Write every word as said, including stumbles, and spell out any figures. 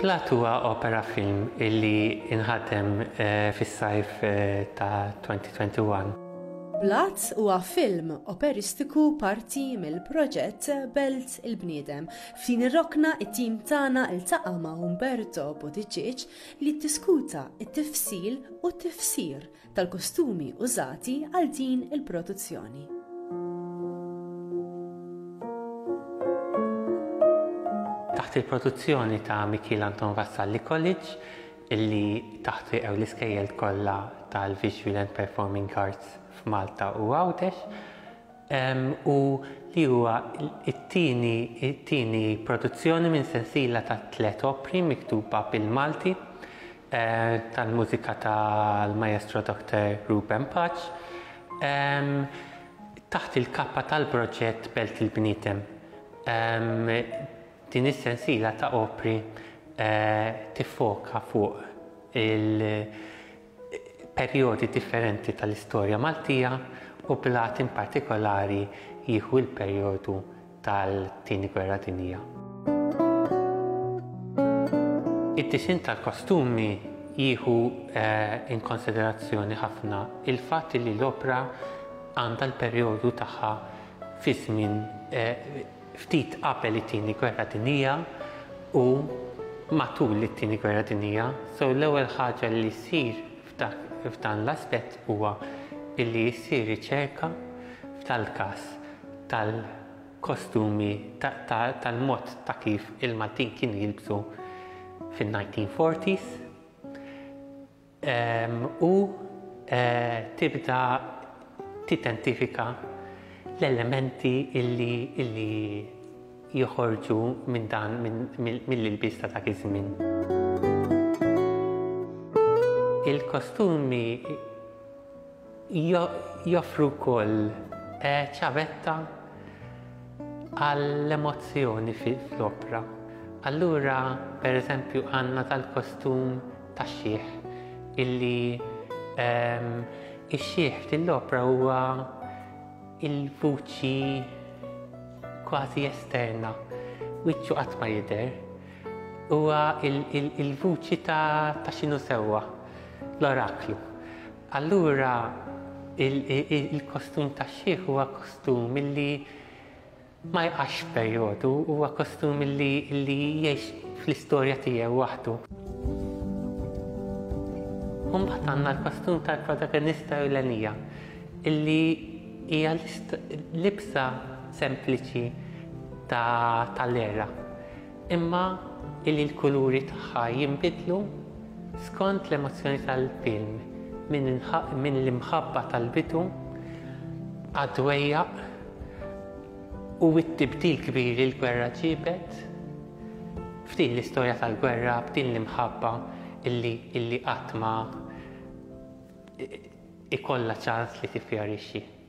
Blat huwa opera film illi inħadem eh, fis-sajf eh, ta' elfejn u wieħed u għoxrin. Blat huwa film operistiku parti mill-proġett Belt il-Bniedem. F'din ir-rokna, it-tim tagħna iltaqa' ma' Umberto Buttigieg li ddiskuta it-tifsil u t-tifsir tal-kostumi użati għal din il-produzzjoni. Taħt il-produzzjoni ta' Mikiel Anton Vassalli College, illi taħt jaqgħu l-iskejjel kollha tal-Visual and Performing Arts f'Malta u Għawdex, u li huwa it-tieni it-tieni produzzjoni minn sensiela ta' tliet opri miktuba bil-Malti eh, tal-mużika tal-Maestro Doktor Ruben Pace taħt il-kappa tal-proġett Belt il-Bniedem. Din is-sensiela ta' opri eh, tiffoka fuq il-perjodi differenti tal-istorja Maltija u Blat in partikolari jieħu l-perjodu tal-Tieni Gwerra Dinjija. Id-disin tal-kostumi jieħu eh, in konsiderazzjoni ħafna il-fatt li l-opra għandha l-perjodu tagħha fi żmien eh, ftit qabel it-Tieni Gwerra Dinjija u matul it-Tieni Gwerra Dinjija. So l-ewwel ħaġa li ssir f'dan l-aspett huwa illi jsir riċerka f'tal-każ tal-kostumi, tal-mod ta' kif il-Maltin kienu jilbsu fin-nineteen forties u eh, tibda tidentifika l-elementi illi, illi joħorġu minn dan mill-ilbies ta' dak iż-żmien. Il-kostumi joffru wkoll eh, ċavetta għall-emozzjoni fl-opra. Allura, per eżempju, għandna tal-kostum tax-xiħ illi um, ix-xiħ fil-opra huwa il-vuċi kważi esterna, wiċċu qatt ma jidher, huwa il-vuċi ta', ta x'inhu sewwa, l-oraklu. Allura il-kostum tax-xiħ huwa kostum illi ma jqax perjodu, huwa kostum illi, illi jgħix fl-istorja tiegħu waħdu. Mbagħad għandna l-kostum tal-protagonista ewlenija illi hija libsa sempliċi tal-era. Imma illi l-kuluri tagħha jinbidlu skont l-emozzjoni tal-film, minn l-imħabba tal-bidu għad-dwejjaq u t-tibdil kbir li l-gwerra ġibet f'din l-istorja tal-gwerra, b'din l-imħabba illi illi qatt ma ikollha ċans li tiffjorixxi.